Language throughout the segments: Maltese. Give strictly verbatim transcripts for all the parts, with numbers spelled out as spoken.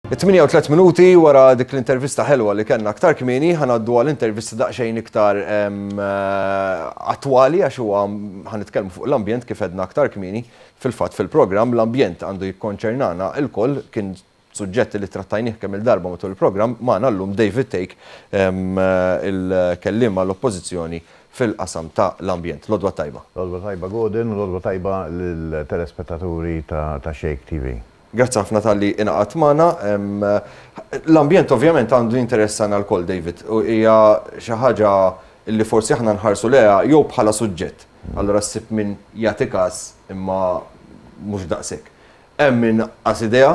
It-tmienja u tliet minuti wara dik l-intervista ħelwa li kellna aktar kmieni, ħa ngħaddu għal intervista daqsxejn iktar em, eh, attwali, għax huwa ħa nitkellmu fuq l-ambjent kif għedna aktar kmieni fil-fatt fil-programm. L-ambjent għandu jikkonċernana il-koll, kien suġġetti li trattajnih kemm il-darba matul il-programm. Magħna llum David Thake, em, eh, il-kelliem għall-oppożizzjoni fil-qasam ta' l-ambjent. L-għodwa t-tajba. L-għodwa t-tajba, Gordon, u l-għodwa t-tajba l-telespettaturi ta', ta Xejk T V. Grazzi ħafna talli ingħaqadt magħna. L-ambjent ovvjament għandu jinteressana lkoll, David. U hija xi ħaġa li forsi aħna nħarsu leha jew bħala suġġett. Allura ssib min jagħti każ imma mhux daqshekk. Hemm min qas idea,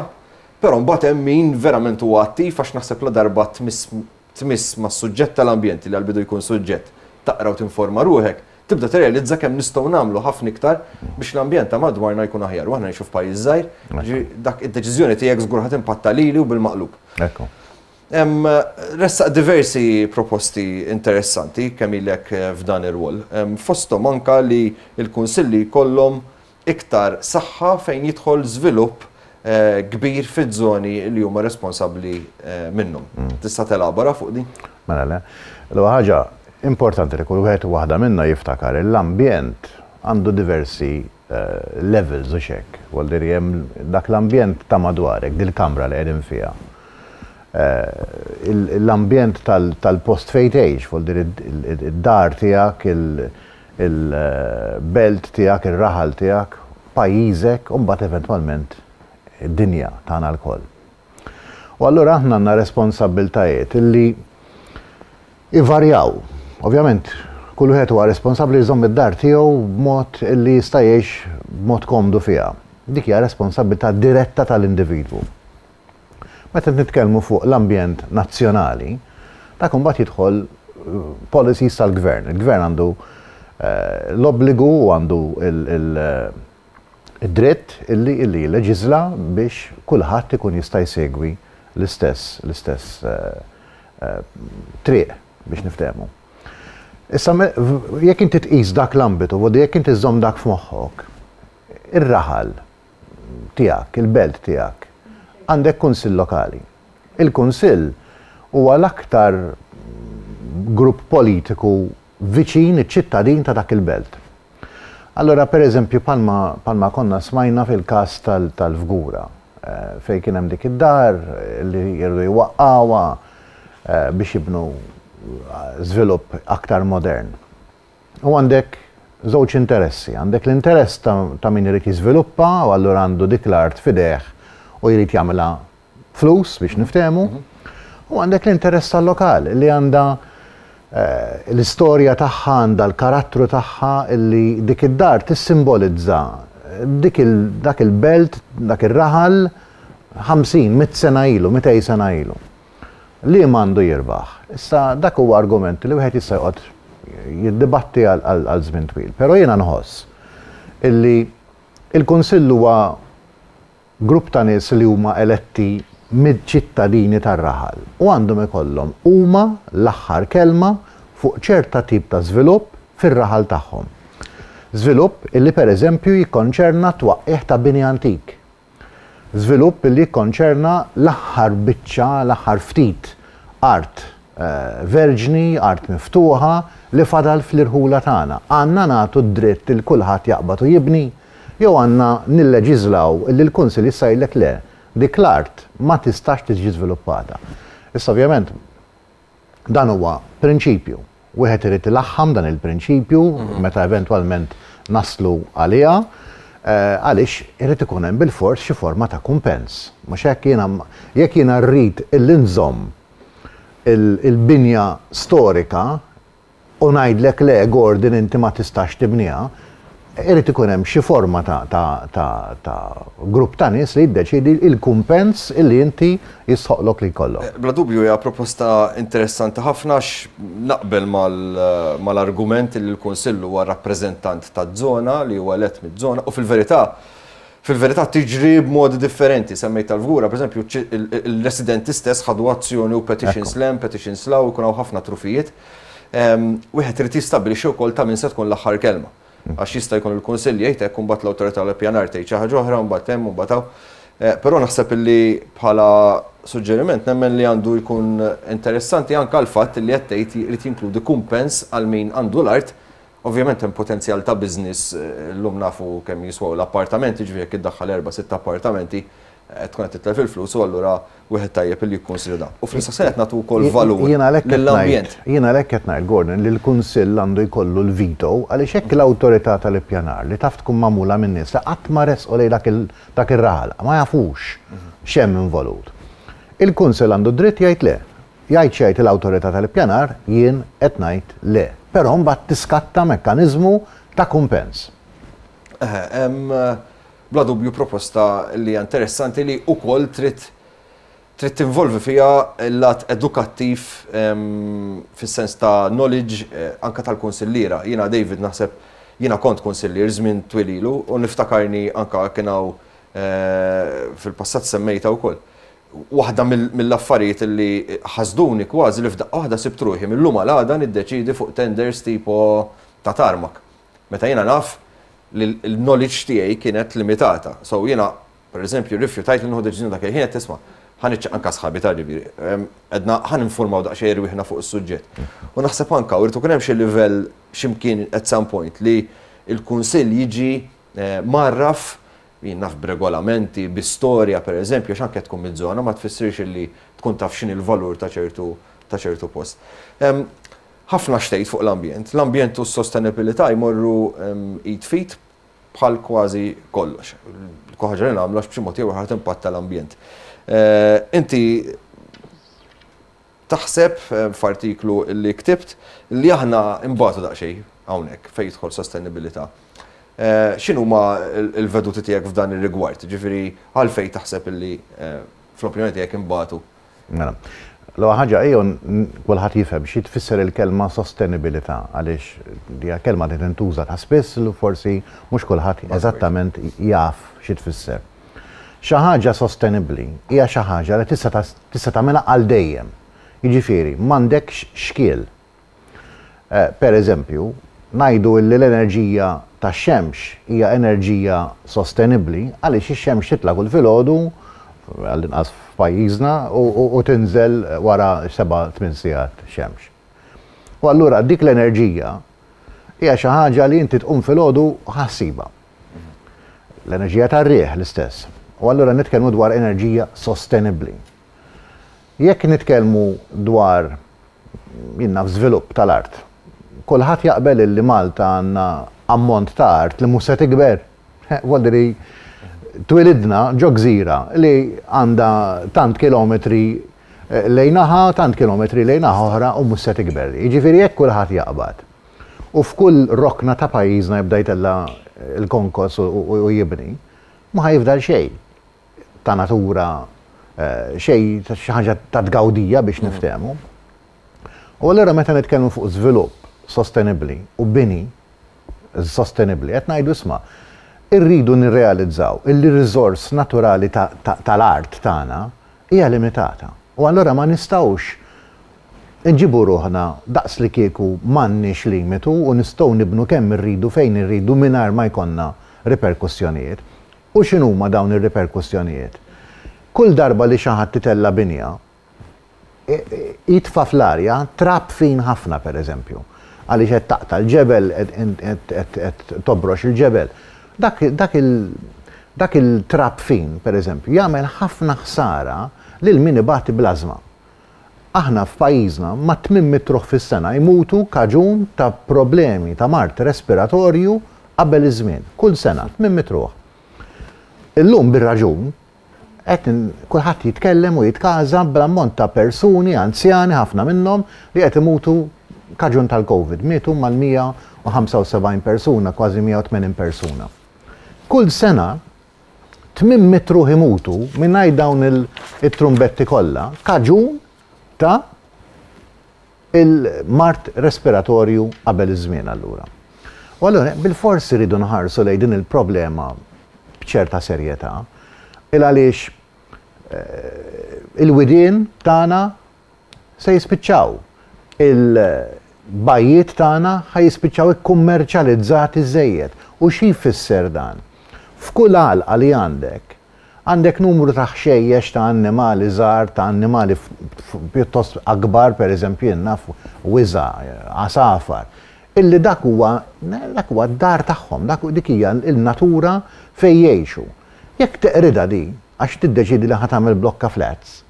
però mbagħad hemm min verament huwa attiv, għax naħseb la darba tmiss tmiss mas-suġġett tal-ambjent, li għal-bidu jkun suġġett taqra u tinforma ruħek, tibda tirrealizza kemm nistgħu nagħmlu ħafna iktar biex l-ambjent ta' madwarna jkun aħjar. U aħna ngħixu f'pajjiż żgħir, ġi dak id-deċiżjoni tiegħek żgur ħa timpatta lili u bil-maqlub. Ekku. Em, Ressaq diversi proposti interessanti kemm ilek eh, f'dan ir-rwol. Em, Fosthom anka li l-kunsilli jkollhom iktar saħħa fejn jidħol żvilupp eh, kbir fiż-żoni li huma responsabbli eh, minnhom. Tista' telabora fuq din? Mela le. L-ewwel ħaġa importanti li kull wieħed u waħda minna jiftakar, l-ambjent għandu diversi eh, levels u xek. Vuol hemm dak l-ambjent ta' madwarek, dil-kamra li qegħdin fiha. Eh, il- L-ambjent tal- tal-post fejn tgħix, vuol dire id-dar tiegħek, il-belt tiegħek, ir-raħal tiegħek, pajjiżek, u mbagħad eventwalment id-dinja tagħna lkoll. U allura aħna għandna responsabbiltajiet illi ivarjaw. Ovvjament, kull wieħed huwa responsabbli jżomm id-dar tiegħu b'mod illi jista' jgħix b'mod komdu fiha. Dik hija responsabilità diretta tal-individwu. Meta nitkellmu fuq l-ambjent nazzjonali, dak imbagħad jidħol eh, policies tal-gvern. Il-gvern għandu eh, l-obbligu u għandu il-dritt illi illi leġizla biex kulħadd ikun jista' jsegwi l-istess l-istess eh, triq, biex niftehmu. Issa, jekk inti tqis dak l-ambitu, u jekk inti żżomm dak f'moħħok, ir-raħal tiegħek, il-belt tiegħek, għandek kunsill lokali. Il-kunsill huwa l-aktar grupp politiku viċin iċ-ċittadin ta' dak il-belt. Allora, per eżempju, bħalma, bħalma konna smajna fil-kas tal-Fgura, eh, fej kien hemm dik id-dar li jridu jwaqqgħuha eh, biex jibnu żvilupp aktar modern. U għandek żewġ interessi. Għandek l-interess ta', ta min irid jiżviluppa u allura għandu dik l-art f'idejh u jrid jagħmilha flus, biex niftehmu. U għandek l-interess tal-lokal li għandha eh, l-istorja tagħha, għandha l-karattru tagħha, illi dik id-dar tissimbolizza dik il, dak il-belt, dak ir-raħal ħamsin, mitt sena ilu, mitejn sena ilu. Li għandu jirbaħ? Issa, dak huwa argument li wieħed jista' joqgħod jiddibatti għal żmien twil. Però jiena nħoss illi il-Kunsill huwa grupp ta' nies li huma eletti mid-ċittadini tar-raħal u għandhom ikollhom huma l-aħħar kelma fuq ċerta tip ta' żvilupp fir-raħal tagħhom. Żvilupp illi, per eżempju, jikkonċerna twaqqih ta' bini antik. Żvilupp illi jikkonċerna l-aħħar biċċa, l-aħħar ftit art eh, verġni, art miftuħa li fadal fl-irħula tagħna. Għandna nagħtu d-dritt il kulħadd jaqbad u jibni, jew għandna nilleġiżlaw li l-Kunsill jista' jgħidlek le, dik l-art ma tistax tiġi żviluppata? Issa, ovvjament, dan huwa prinċipju. Wieħed irid ilaħħam dan il-prinċipju meta eventwalment naslu għaliha, eh, għaliex irid ikun hemm bil-fors xi forma ta' kumpens. Mhux hekk? Jiena jekk jiena rrid illi nżomm il-binja storika u ngħidlek le, Gordon, inti ma tistax tibniha, irid ikun hemm xi forma ta', ta, ta, ta grupp ta' nies li jiddeċidi il-kumpens illi inti jistħoqlok li jkollok. Bla dubju hija proposta interessanti ħafna, naqbel mal-argument li l-Kunsill huwa rappreżentant ta' żona li huwa elett mid-żona u fil-verità fil-verità tiġri b'modi differenti. Semmejt tal-Fgura, per eżempju, il-residenti stess ħadu azzjoni u petitions 'l hemm, petitions 'l hawn, ikun hawn ħafna trufijiet. Wieħed irid jistabbilixxi wkoll ta' min se tkun l-aħħar kelma. Għax jista' jkun il-Kunsill jgħid hekk, mbagħad l-awtorità l-pjanar tgħid xi ħaġa oħra, mbagħad hemm, mbagħad hawn. Però naħseb li bħala suġġeriment nemmen li għandu jkun interessanti anka l-fatt li qed tgħid irid jinkludi kumpens għal min għandu l-art. Ovvjament hemm potenzjal ta' business, llum nafu kemm jiswaw l-appartamenti, ġifieri jekk iddaħħal erba' sitt appartamenti tkun qed titlef il-flus u allura wieħed tajjeb li jikkonsidra. U fl-istess qed nagħtu wkoll valur lill-ambjent. Jien għalhekk qed ngħid, Gordon, li l-Kunsill għandu jkollu l-veto, għaliex hekk l-awtorità tal-ippjanar li taf tkun magħmula minn nies li qatt ma resqu lejn dak ir-raħal, ma jafux x'hemm involut. Il-Kunsill għandu dritt jgħid le. Jgħid xejn l-awtorità tal-ippjanar, jien qed ngħid le. Però mbagħad tiskatta mekkaniżmu ta' kumpens. Bla dubju proposta li hija interessanti li wkoll trid trid tinvolvi fiha l-lat edukattiv fis-sens ta' knowledge anka tal-kunsilliera. Jiena, David, naħseb jiena kont kunsillier żmien twil ilu u niftakarni anka kien hawn fil-passat semmejta wkoll. Waħda mill-affarijiet li ħasduni kważi li f'daqqa waħda sibt ruħi mill-lum għal għada niddeċidi fuq tenders tipo ta' tarmac. Meta jiena naf li l-knowledge tiegħi kienet limitata. So jiena, per eżempju, rifjutajt li nieħu deċiżjoni dak il-ħin, qed tisma' ħa niċċekkja anka sħabi ta' ġifieri, għedna ħa ninformaw daqsxejn rwieħna fuq is-suġġett. U naħseb anka u rrid ikun hemm xi livell x'imkien at some point li l-kunsill jiġi marraf, jien naf, b'regolamenti, bi storja per eżempju, għax anke tkun mid-żona ma tfissirx li tkun taf x'inhi l-valur ta' ċertu ta' ċertu post. Ħafna xtejt fuq l-ambjent. L-ambjent u s-sostenibilità jmorru id f'id bħal kważi kollox. Kull ħaġa li nagħmlu b'xi mod jew ieħor timpatta l-ambjent. Inti taħseb f'artiklu li ktibt li aħna imbatu daqsxejn hawnhekk fejn jidħol sostenibilità. X'inhuma l-veduti tiegħek f'dan ir-rigward? Ġifieri għalfejn taħseb li fl-opinjoni tiegħek imbatu? Mela, l-ewwel ħaġa ejjew kulħadd jifhem xi tfisser il-kelma sostenibilità, għaliex hija kelma li tintuża ta' spiss li forsi mhux kulħadd eżattament jaf xi tfisser. Xi ħaġa sostenibbli hija xi ħaġa li tista' tista' tagħmilha għal dejjem. Jiġifieri m'għandekx xkiel. Per eżempju, ngħidu li l-enerġija tax-xemx hija enerġija sostenibbli għaliex ix-xemx titla' kull filgħodu, għall-inqas f'pajjiżna, u tinżel wara seba' tmien sigħat xemx. U allura dik l-enerġija hija xi ħaġa li inti tqum filgħodu ħassiba. L-enerġija tar-riħ l-istess. U allura nitkellmu dwar enerġija sostenibbli. Jekk nitkellmu dwar, jien naf, żvilupp tal-art, kulħadd jaqbel li Malta għandna ammont ta' art li mhux se tikber. Vuol twilidna ġo gżira li għandha tant kilometri lejn naħa, tant kilometri lejn naħa oħra u mhux se tikber. Jiġifieri jekk kulħadd jaqbad u f'kull rokna ta' pajjiżna jibda jtella' l-konkos u jibni, ma ħajfdal xejn ta' natura, xejn xi ħaġa ta' tgawdija biex niftehmu. U allura meta nitkellmu fuq żvilupp sostenibbli u bini sostenibbli, qed ngħidu isma', irridu nirrealizzaw illi r-riżors naturali tal-art tagħna hija limitata. U allura ma nistgħux nġibu ruħna daqs li kieku m'għandniex limitu u nistgħu nibnu kemm irridu fejn irridu mingħajr ma jkollna riperkussjonijiet. U x'inhuma dawn ir-riperkussjonijiet? Kull darba li xi ħadd titella' binja, jitfa' fl-arja trab fin ħafna, per eżempju. Għaliex qed taqta' l-ġebel, qed tobrox il-ġebel. Dak il-trab fin, per eżempju, jagħmel ħafna ħsara lil min ibati bl-ażma. Aħna f'pajjiżna ma' tmien mitt ruħ fis-sena jmutu kaġun ta' problemi ta' mard respiratorju qabel iż-żmien. Kull sena tmien mitt ruħ. Illum bir-raġun qed kulħadd jitkellem u jitkaża bl-ammont ta' persuni anzjani, ħafna minnhom, li qed imutu kaġun tal-Covid. Mietu mal-mija u ħamsa u sebgħin persuna, kważi mija u tmenin persuna. Kull sena tmien mitt ruħ imutu mingħajr dawn il-trumbetti kollha kaġun ta' il-mard respiratorju qabel iż-żmien allura. U allura bil-forsi rridu nħarsu lejn din il-problema b'ċerta serjetà, il għaliex il-widien tagħna se jispiċċaw, il-bajjiet tagħna ħa jispiċċaw ikkummerċjalizzati żejjed. U xi jfisser dan? F'kull għalqa li għandek, Għandek numru ta' ħxejjex ta' annimali żgħar, ta' annimali pjuttost akbar, per eżempju, naf wiża, għasafar, illi dak huwa dak huwa d-dar tagħhom, dak dik hija l-natura fejn jgħixu. Jekk teqridha di, għax tiddeċidi li ħa tagħmel blokka flats,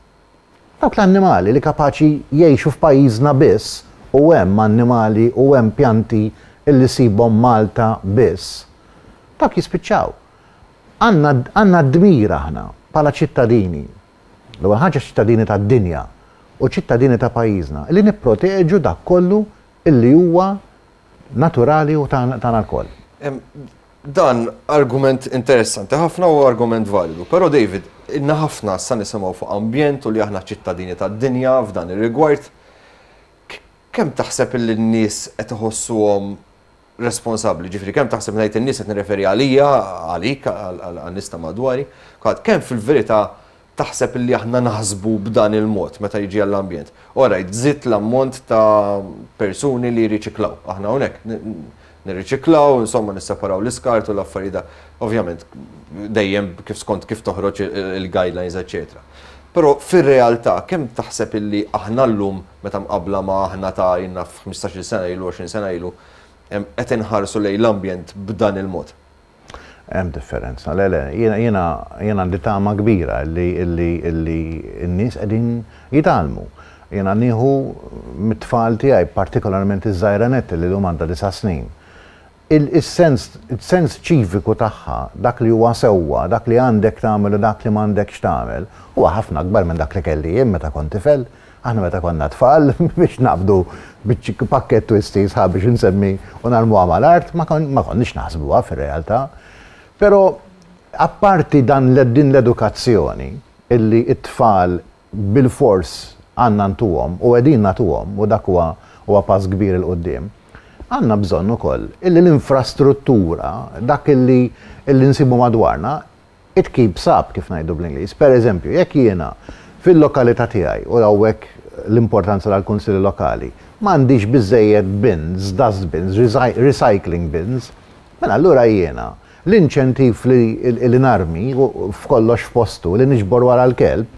dawk l-annimali li kapaċi jgħixu f'pajjiżna biss, u hemm annimali u hemm pjanti illi ssibhom Malta biss, dawk jispiċċaw. Għandna dmir aħna bħala ċittadini, l-ewwel ħaġa ċittadini tad-dinja u ċittadini ta' pajjiżna, li nipproteġu dak kollu illi huwa naturali u tagħna lkoll. Dan argument interessanti ħafna u argument validu. Però David, ilna ħafna sa nisimgħu fuq ambjent u li aħna ċittadini tad-dinja f'dan ir-rigward. Kemm taħseb li n-nies qed iħossuhom responsabbli? Ġifieri kemm taħseb ngħid in-nies qed nirreferi għalija, għalik, għan-nies ta' madwari, kemm fil-verità taħseb li aħna naħsbu b'dan il-mod meta jiġi għall-ambjent? Alright, żidt l-ammont ta' persuni li jirriċiklaw. Aħna hawnhekk nirriċiklaw, insomma nisseparaw l-iskart u l-affarijiet, ovvjament dejjem kif skont kif toħroġ il-guidelines, eċetera. Però fir-realtà kemm taħseb illi aħna llum meta mqabbla ma aħna ta' jiena f'ħmistax-il sena ilu, għoxrin sena ilu, qed inħarsu lejn l-ambjent b'dan il-mod? Hemm differenza. Le, le, jiena jiena jiena għandi tama kbira li li li n-nies qegħdin jitgħallmu. Jiena nieħu mit-tfal tiegħi, partikolarment iż-żgħira nett li llum għandha disa' snin. Il-sens il-sens ċiviku tagħha, dak li huwa sewwa, dak li għandek tagħmel u dak li m'għandekx tagħmel, huwa ħafna akbar minn dak li kelli jien meta kont tifel. Aħna meta konna tfal biex naqbdu biċ pakket Twisties ħa biex insemmi u narmuha mal-art, ma konniex naħsbuha fir-realtà. Però apparti dan din l-edukazzjoni illi it-tfal bil-fors għandna ntuhom u qegħdin nagħtuhom, u dak huwa huwa pass kbir 'il quddiem, għandna bżonn ukoll illi l-infrastruttura, dak illi illi nsibu madwarna, it keeps up, kif ngħidu bl-Ingliż. Per eżempju, jekk jiena fil-lokalità tiegħi, u hawnhekk l-importanza tal-kunsilli lokali, m'għandix biżejjed bins, dustbins, recycling bins, mela allura jiena l-inċentiv li, li narmi f'kollox f'postu, li niġbor wara l-kelb,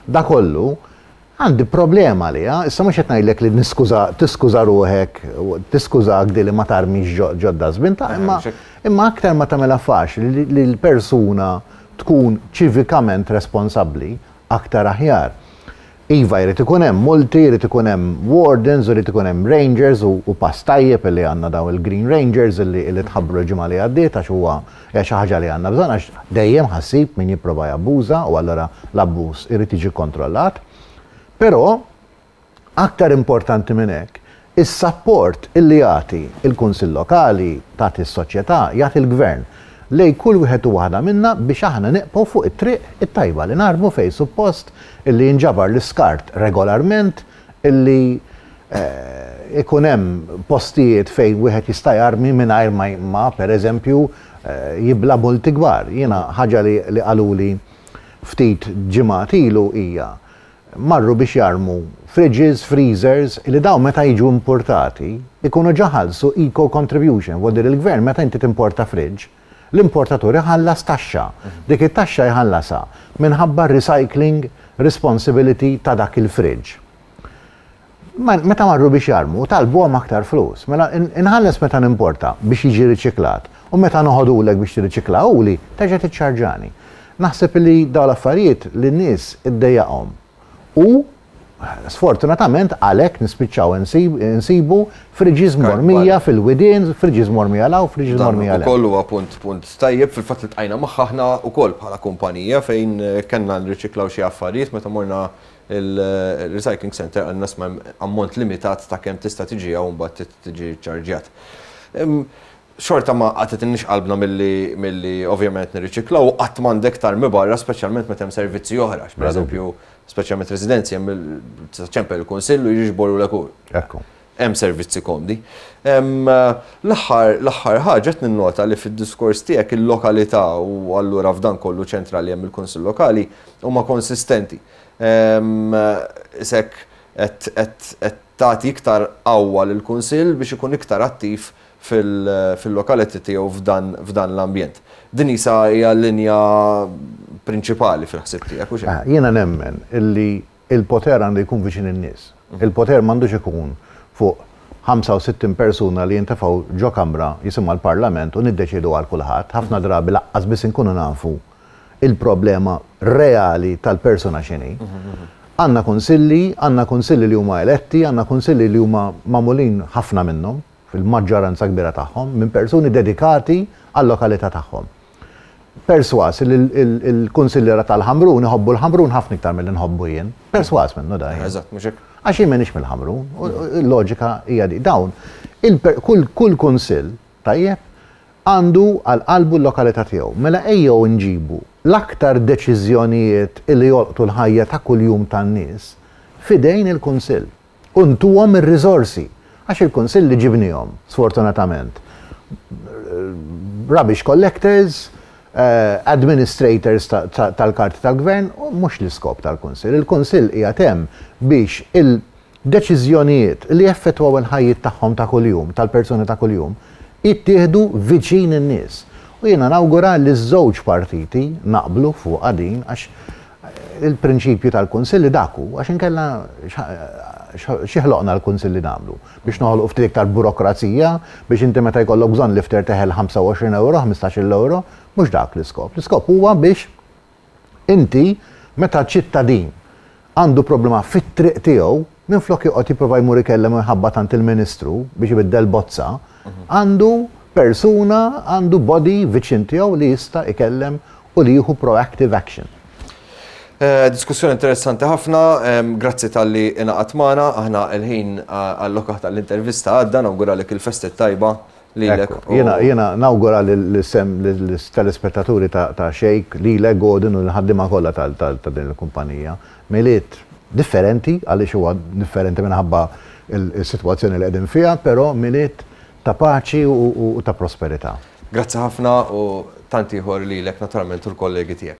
da kollu, għandi problema li, issa mhux qed ngħidlek li niskuża, tiskuża ruħek, tiskużak di li ma tarmix ġo dustbin, ta' imma imma aktar ma tagħmilha faċli li l-persuna tkun ċivikament responsabbli, aktar aħjar. Iva, jrid ikun hemm multi, jrid ikun hemm wardens, jrid ikun hemm rangers, u, u pass tajjeb li għandna daw il-Green Rangers illi, illi tħabbru l-ġimgħa li għaddiet, għax huwa xi ħaġa li għandna bżonn, għax dejjem ħa ssib min jipprova jabbuża u allura l-abbuż irid jiġi kontrollat. Però aktar importanti minn hekk, is-support illi jagħti il-Kunsill Lokali, tagħti s-soċjetà, jagħti l-Gvern lej kull wieħed u waħda minna biex aħna neqgħu fuq it-triq it-tajba, li narmu fej suppost, illi jinġabar l-iskart regolarment, illi eh, ikun hemm postijiet fejn wieħed jista' jarmi mingħajr ma, ma per eżempju eh, jibla multi kbar. Jiena ħaġa li, li qaluli ftit ġimgħat ilu hija marru biex jarmu fridges, freezers, li daw meta jiġu importati ikunu ġa ħallsu eco contribution, vuol il-gvern meta inti timporta fridge, l-importatur iħallas taxxa. Dik it-taxxa jħallasha minħabba recycling responsibility ta' dak il-fridge. Meta marru biex jarmu, talbuhom aktar flus. Mela inħalles meta nimporta biex jiġi riċiklat u meta noħodulek biex tirriċiklahuli, terġa' tiċċarġani. Naħseb li dawn l-affarijiet li n-nies iddejjaqhom. U sfortunatament għalhekk nispiċċaw insibu fridges mormija fil-widien, fridges mormija 'l hawn, fridges mormija 'l Ukoll huwa punt punt tajjeb. Fil-fatt iltqajna magħha aħna wkoll bħala kumpanija fejn kellna nriċiklaw xi affarijiet. Meta morna il-recycling center għandna isma' ammont limitat ta' kemm tista' tiġi hawn, mbagħad tiġi ċarġjat. Xorta ma qatgħetilniex qalbna milli milli ovvjament nirriċiklaw, qatt m'għandek tarmi barra, speċjalment meta hemm servizzi oħra, per eżempju, speċjalment residenzi hemm ċempel il-kunsill u jiġboru l. Ekku. Hemm servizzi komdi. L-aħħar l-aħħar ħaġa, qed ninnota li fid-diskors tiegħek il-lokalità u allura f'dan kollu ċentrali hemm il-kunsill lokali huma konsistenti. Sek qed tagħti iktar qawwa lill-kunsill biex ikun iktar attiv fil-lokalità tiegħu f'dan l-ambjent. Din isa hija linja prinċipali fil-ħsib tiegħek u xejn. Jiena nemmen illi il-poter għandu jkun viċin in-nies. Il-poter m'għandux ikun fuq ħamsa u sittin persuna li jintefgħu ġo kamra jisimha l-Parlament u niddeċidu għal kulħadd. Ħafna drabi lanqas biss inkunu nafu il-problema reali tal-persuna x'inhi. Għandna kunsilli, għandna kunsilli li huma eletti, għandna kunsilli li huma magħmulin, ħafna minnhom, fil-maġġoranza kbira tagħhom, minn persuni dedikati għal-lokalità tagħhom. Perswas li il-kunsilliera tal-Ħamrun iħobbu l-Ħamrun ħafna iktar mill nħobbu jien. Perswas minnu da. Eżatt, mhux hekk. Għax jien m'iniex mill-Ħamrun, il-loġika hija di. Dawn, kull kunsill, tajjeb, għandu għal qalbu l-lokalità tiegħu. Mela ejjew nġibu l-aktar deċiżjonijiet li jolqtu l-ħajja ta' kuljum tan-nies fidejn il-kunsill. U ntuhom ir-riżorsi. Għax il-kunsill li ġibnihom, sfortunatament. Rubbish collectors, uh, administrators tal-karti tal-gvern, u mhux l-iskop tal-kunsill. Il-kunsill hija hemm biex il-deċiżjonijiet li jeffettwaw il-ħajjiet tagħhom ta' kuljum, tal-persuni ta' kuljum, jittieħdu viċin in-nies. U jiena nawgura li ż-żewġ partiti naqblu fuq din, għax il-prinċipju tal-kunsilli daku, għax inkella xi ħloqna l-kunsilli nagħmlu? Biex noħolqu ftit iktar burokrazija, biex inti meta jkollok bżonn lifter teħel ħamsa u għoxrin euro, ħmistax-il euro? Mhux dak l-iskop. L-iskop huwa biex inti, meta ċittadin għandu problema fit-triq tiegħu, minflok joqgħod jipprova jmur ikellem u jħabbat għand il-ministru biex ibiddel bozza, għandu persuna, għandu body viċin tiegħu li jista' ikellem u li jieħu proactive action. Eh, diskussjoni interessanti ħafna, grazzi talli ingħaqadt magħna. Aħna il-ħin allokat tal-intervista għadda, nawguralek il-festi tajba lilek. Jiena jiena nawgura l-sem telespettaturi ta' Xejk, lilek Gordon u l-ħaddiema kollha ta' din il-kumpanija. Milied differenti, għaliex huwa differenti minħabba il-sitwazzjoni li qegħdin fiha, però Milied ta' paċi u ta' prosperità. Grazzi ħafna u tant ieħor lilek naturalment u l-kollegi tiegħek.